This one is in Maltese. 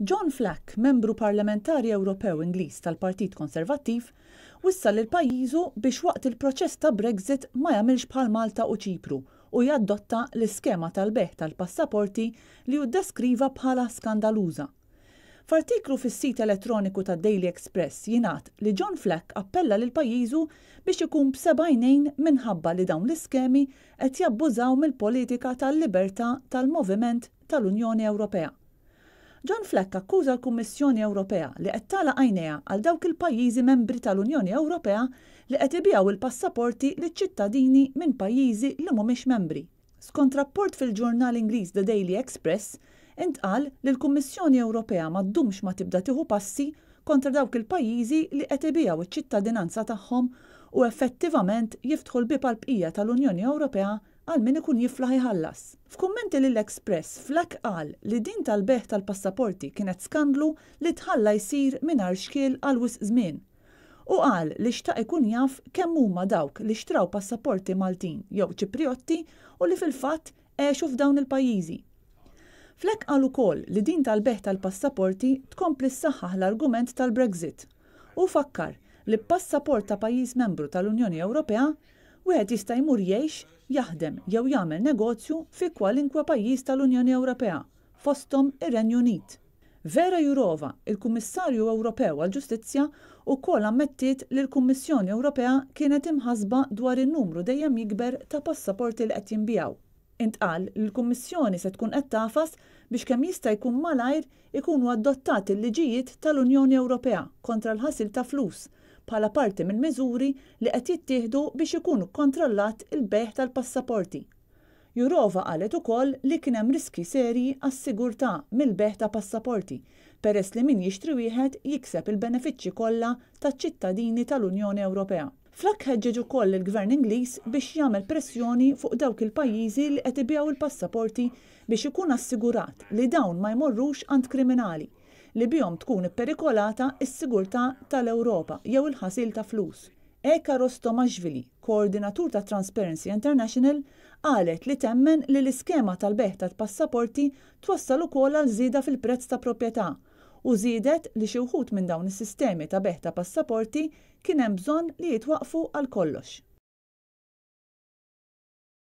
John Flack, membru parlamentari Ewropew Ingliż tal-Partit Konservattiv, wissa lil pajjiżu biex waqt il-proċess ta' Brexit ma jagħmilx bħal Malta u Ċipru u jaddotta l-iskema tal-bejgħ tal-passaporti li hu ddeskriva bħala skandaluża. F'artiklu fis-sit elettroniku tad-Daily Express jingħad li John Flack appella lil pajjiżu biex ikun b'seba' għajnejn minħabba li dawn l-iskemi qed jabbużaw mill-politika tal-libertà tal-moviment tal-Unjoni Ewropea. John Flack akkuża l-Kummissjoni Ewropea li qed tagħlaq għajnejha għal dawk il-pajjiżi membri tal-Unjoni Ewropea li qed ibigħu l-passaporti liċ-ċittadini minn pajjiżi li mhumiex membri. Skont rapport fil-ġurnal Ingliż The Daily Express, intqal li l-Kummissjoni Ewropea ma ddumx ma tibda tieħu passi kontra dawk il-pajjiżi li qed ibigħu ċ-ċittadinanza tagħhom u effettivament jiftħu l-bieb għall-bqija tal-Unjoni Ewropea għal min ikun jiflaħ iħallas. F'kummenti lill-Express, Flack qal li din tal-bejgħ tal-passaporti kienet skandlu li tħalla jsir mingħajr xkiel għal wisq żmien. Hu qal li xtaq ikun jaf kemm huma dawk li xtraw passaporti Maltin jew Ċipriotti u li fil-fatt għexu f'dawn il-pajjiżi. Fleck qal ukoll li din tal-bejgħ tal-passaporti tkompli ssaħħaħ l-argument tal-Brexit. Hu fakkar li b'passaport ta' pajjiż membru tal-Unjoni Ewropea, wieħed jista' jmur jgħix, jaħdem jew jagħmel negozju fi kwalinkwe pajjiż tal-Unjoni Ewropea, fosthom ir-Renju Unit. Vera Jourova, il-Kummissarju Ewropew għall-Ġustizzja, ukoll ammettiet li l-Kummissjoni Ewropea kienet imħassba dwar in-numru dejjem jikber ta' passaporti li qed jinbiegħu. Intqal li l-Kummissjoni se tkun qed tagħfas biex kemm jista' jkun malajr ikunu adottati l-liġijiet tal-Unjoni Ewropea kontra l-ħasil ta' flus bħala parti mill-miżuri li qed jittieħdu biex ikun kkontrollat il-bejgħ tal-passaporti. Jourova qalet ukoll li kien hemm riskji serji għas-sigurtà mill-bejgħ ta' passaporti peress li min jixtri wieħed jikseb il-benefiċċji kollha taċ-ċittadini tal-Unjoni Ewropea. Flack ħeġġeġ ukoll lill-Gvern Ingliż biex jagħmel pressjoni fuq dawk il-pajjiżi li qed ibigħu l-passaporti biex ikun assigurat li dawn ma jmorrux għand kriminali li bihom tkun ipperikolata s-sigurtà tal-Ewropa jew il-ħasil ta' flus. Eka Rostomashvili, koordinatur ta' Transparency International, qalet li temmen li l-iskema tal-bejgħ tat-passaporti twassal ukoll għal żieda fil-prezz ta' proprjetà u żiedet li xi wħud minn dawn is-sistemi ta' bejgħ ta' passaporti kien hemm bżonn li jitwaqqfu għal kollox.